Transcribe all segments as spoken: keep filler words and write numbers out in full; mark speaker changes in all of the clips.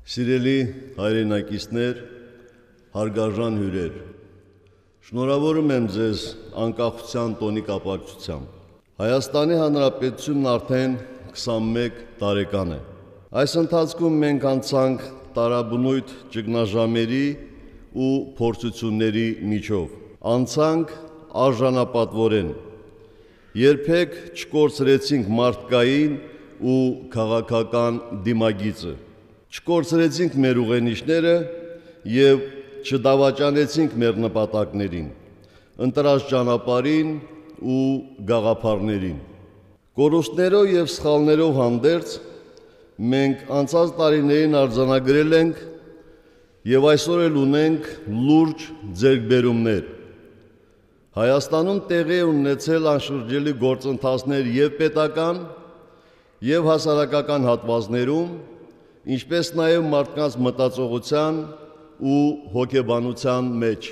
Speaker 1: Սիրելի հայրենակիցներ, հարգարժան հյուրեր, շնորհավորում եմ ձեզ անկախության տոնի կապակցությամբ։ Հայաստանի Հանրապետությունն արդեն քսանմեկ տարեկան է։ Այս ընթացքում մենք անցանք տարաբնույթ ճգնաժամերի ու փորձությունների միջով։ Անցանք արժանապատվորեն։ Երբեք չկորցրեցինք մարդկային ու քաղաքական դիմագիծը։ Չկորցրեցինք մեր ուղենիշները և չդավաճանեցինք մեր նպատակներին, ընտրած ճանապարհին ու գաղափարներին։ Կորուստներով և սխալներով հանդերձ մենք անցած տարիներին արձանագրել ենք և այսօր էլ ունենք լուրջ ձեռքբերումներ։ Հայաստանում տեղի է ունեցել անշրջելի գործընթացներ և պետական, և հասարակական հատվածներում, ինչպես նաև մարդկանց մտածողության ու հոգեբանության մեջ։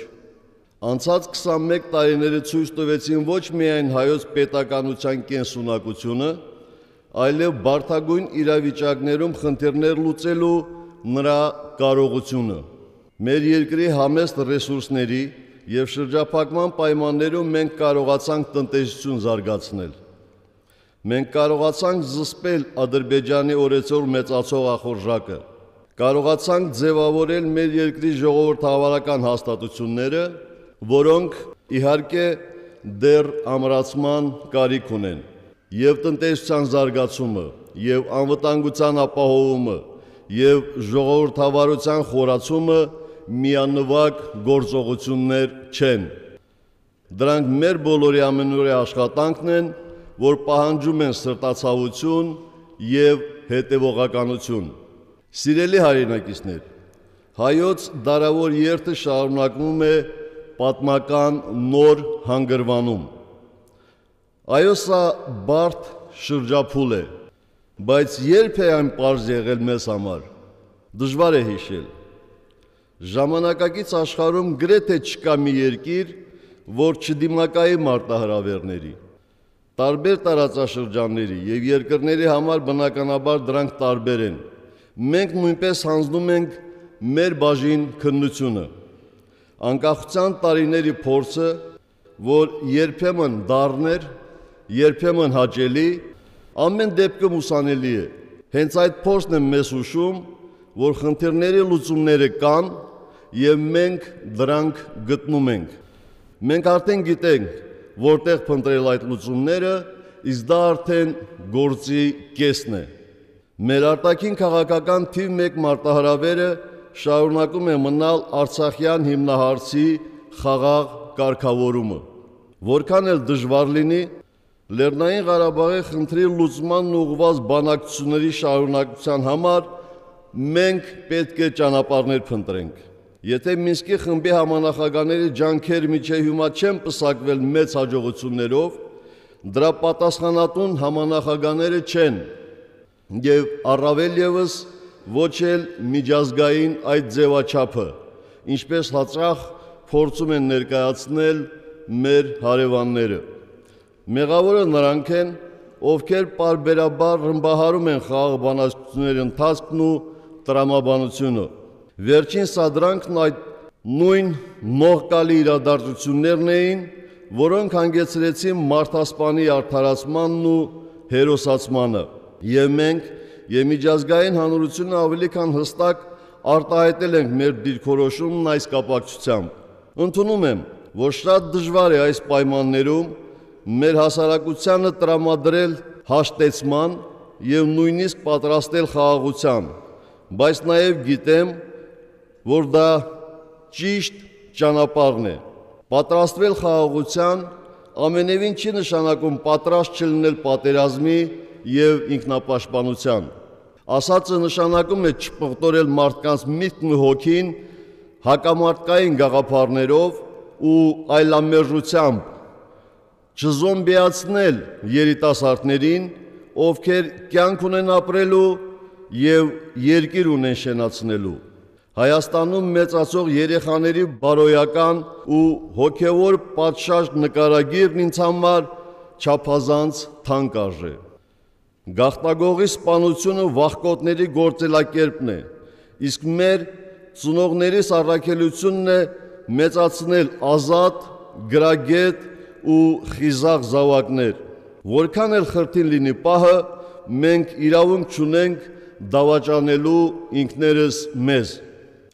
Speaker 1: Անցած քսանմեկ տարիները ցույց տվեցին ոչ միայն հայոց պետականության կենսունակությունը, այլև բարդագույն իրավիճակներում խնդիրներ լուծելու նրա կարողությունը։ Մեր երկրի համեստ ռեսուրսների և շրջափակման պայմաններում մենք կարողացանք տնտեսություն զարգացնել։ Մենք կարողացանք զսպել Ադրբեջանի օրեցօր մեծացող ախորժակը, կարողացանք ձևավորել մեր երկրի ժողովրդավարական հաստատությունները, որոնք իհարկե դեռ ամրացման կարիք ունեն, և տնտեսության զարգացումը, և անվտանգության ապահովումը, և ժողովրդավարության խորացումը միանվագ գործողություններ չեն։ Դրանք մեր բոլորի ամենօրյա աշխատանքն են, որ պահանջում են սրտացավություն և հետևողականություն։ Սիրելի հայրենակիցներ, հայոց դարավոր երթը շարունակվում է պատմական նոր հանգրվանում։ Այո, սա բարդ շրջափուլ է, բայց ե՞րբ է այն պարզ եղել մեզ համար։ Դժվար է հիշել։ Ժամանակակից աշխարհում գրեթե չկա մի երկիր, որ չդիմակայի մարտահրավերների։ Տարբեր տարածաշրջանների և երկրների համար բնականաբար դրանք տարբեր են։ Մենք նույնպես հանձնում ենք մեր բաժին քննությունը։ Անկախության տարիների փորձը, որ երբեմն դառն էր, երբեմն հաճելի, ամեն դեպքում ուսանելի է։ Հենց այդ փորձն է մեզ հուշում, որ խնդիրների լուծումները կան, և մենք դրանք գտնում ենք։ Մենք արդեն գիտենք որտեղ փնտրել այդ լուծումները, իսկ դա արդեն գործի կեսն է։ Մեր արտաքին քաղաքական թիվ մեկ մարտահրավերը շարունակում է մնալ արցախյան հիմնահարցի խաղաղ կարգավորումը։ Որքան էլ դժվար լինի, Լեռնային Ղարաբաղի խնդրի լուծմանն ուղղված բանակցությունների շարունակության համար մենք պետք է ճանապարհներ փնտրենք։ Եթե Մինսկի խմբի համանախագահների ջանքերը մինչև հիմա չեն պսակվել մեծ հաջողություններով, դրա պատասխանատուն համանախագահները չեն, և առավել ևս ոչ էլ միջազգային այդ ձևաչափը, ինչպես հաճախ փորձում են ներկայացնել մեր հարևանները։ Մեղավորը նրանք են, ովքեր պարբերաբար ռմբահարում են խաղաղ բանակցությունների ընթացքն ու տրամաբանությունը։ Վերջին սադրանքն այդ նույն նողկալի իրադարձություններն էին, որոնք հանգեցրեցին մարդասպանի արդարացմանն ու հերոսացմանը, և մենք և միջազգային հանրությունը ավելի քան հստակ արտահայտել ենք մեր դիրքորոշումն այս կապակցությամբ։ Ընդունում եմ, որ շատ դժվար է այս պայմաններում մեր հասարակությանը տրամադրել հաշտեցման և նույնիսկ պատրաստել խաղաղության, բայց նաև գիտեմ, որ դա ճիշտ ճանապարհն է։ Պատրաստվել խաղաղության ամենևին չի նշանակում պատրաստ չլինել պատերազմի և ինքնապաշտպանության։ Ասածը նշանակում է չպղտորել մարդկանց միտքն ու հոգին հակամարտկային գաղափարներով ու այլամերժությամբ, չզոմբիացնել երիտասարդներին, ովքեր կյանք ունեն ապրելու և երկիր ունեն շենացնելու։ Հայաստանում մեծացող երեխաների բարոյական ու հոգևոր պատշաճ նկարագիրն ինձ համար չափազանց թանկ արժե։ Գաղտագողի սպանությունը վախկոտների գործելակերպն է, Իսկ մեր ծնողներիս առաքելությունն է մեծացնել ազատ, գրագետ ու խիզախ զավակներ։ Որքան էլ խրթին լինի պահը, մենք իրավունք չունենք դավաճանելու ինքներս մեզ։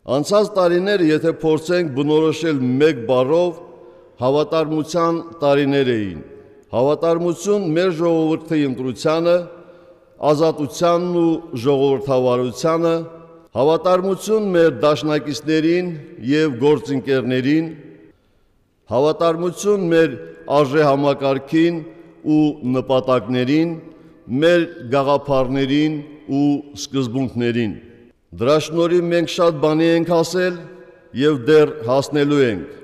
Speaker 1: Անցած տարիները, եթե փորձենք բնորոշել մեկ բառով, հավատարմության տարիներ էին։ Հավատարմություն մեր ժողովրդի ընտրությանը, ազատությանն ու ժողովրդավարությանը, հավատարմություն մեր դաշնակիցներին եւ գործընկերներին, հավատարմություն մեր արժեհամակարգին ու նպատակներին, մեր գաղափարներին ու սկզբունքներին։ Դրա շնորհիվ մենք շատ բանի ենք հասել եւ դեռ հասնելու ենք։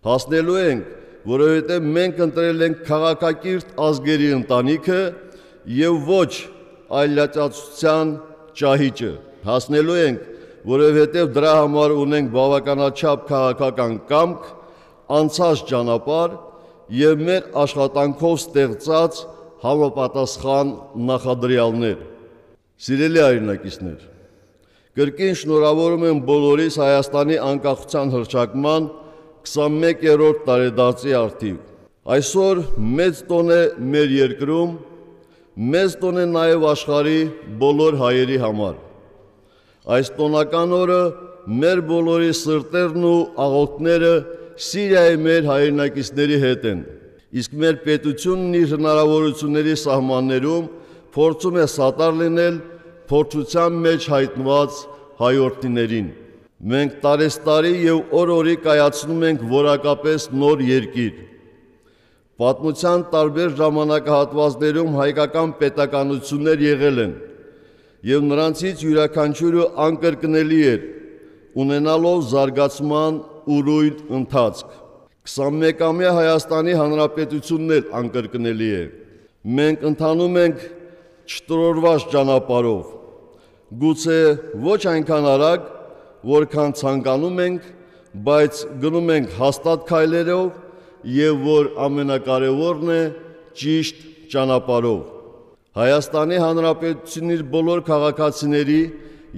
Speaker 1: Հասնելու ենք, որովհետեւ մենք ընտրել ենք քաղաքակիրթ ազգերի ընտանիքը եւ ոչ այլատացության ճահիճը։ Հասնելու ենք, որովհետեւ դրա համար ունենք բավականաչափ քաղաքական կամք, անցած ճանապարհ եւ մեր աշխատանքով ստեղծած համապատասխան նախադրյալներ։ Սիրելի հայրենակիցներ, կրկին շնորհավորում եմ բոլորիս Հայաստանի անկախության հռչակման քսանմեկերորդ տարեդարձի առթիվ։ Այսօր մեծ տոն է մեր երկրում, մեծ տոն է նաև աշխարհի բոլոր հայերի համար։ Այս տոնական օրը մեր բոլորի սրտերն ու աղոթքները Սիրիայի մեր հայրենակիցների հետ են, իսկ մեր պետությունն իր հնարավորությունների սահմաններում փորձում է սատար լինել փորձության մեջ հայտնված հայրենիներին։ Մենք տարեստարի եւ օր-օրի կայացնում ենք որակապես նոր երկիր։ Պատմության տարբեր ժամանակահատվածներում հայկական պետականություններ եղել են, եւ նրանցից յուրաքանչյուրը անկրկնելի էր, ունենալով զարգացման ուրույն ընթացք։ քսանմեկամյա Հայաստանի Հանրապետությունն էլ անկրկնելի է։ Մենք ընթանում ենք չտրորված ճանապարհով, գուցե ոչ այնքան արագ, որքան ցանկանում ենք, բայց գնում ենք հաստատ քայլերով եւ որ ամենակարևորն է ճիշտ ճանապարհով։ Հայաստանի Հանրապետությունն իր բոլոր քաղաքացիների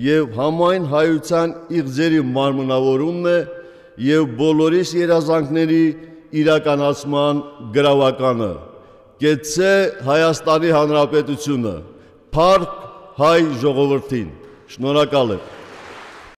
Speaker 1: եւ համայն հայության իղձերի մարմնավորումն է եւ բոլորիս երազանքների իրականացման գրավականը։ Կեցցե Հայաստանի Հանրապետությունը, փառք հայ ժողովրդին։ Շնորհակալ եմ։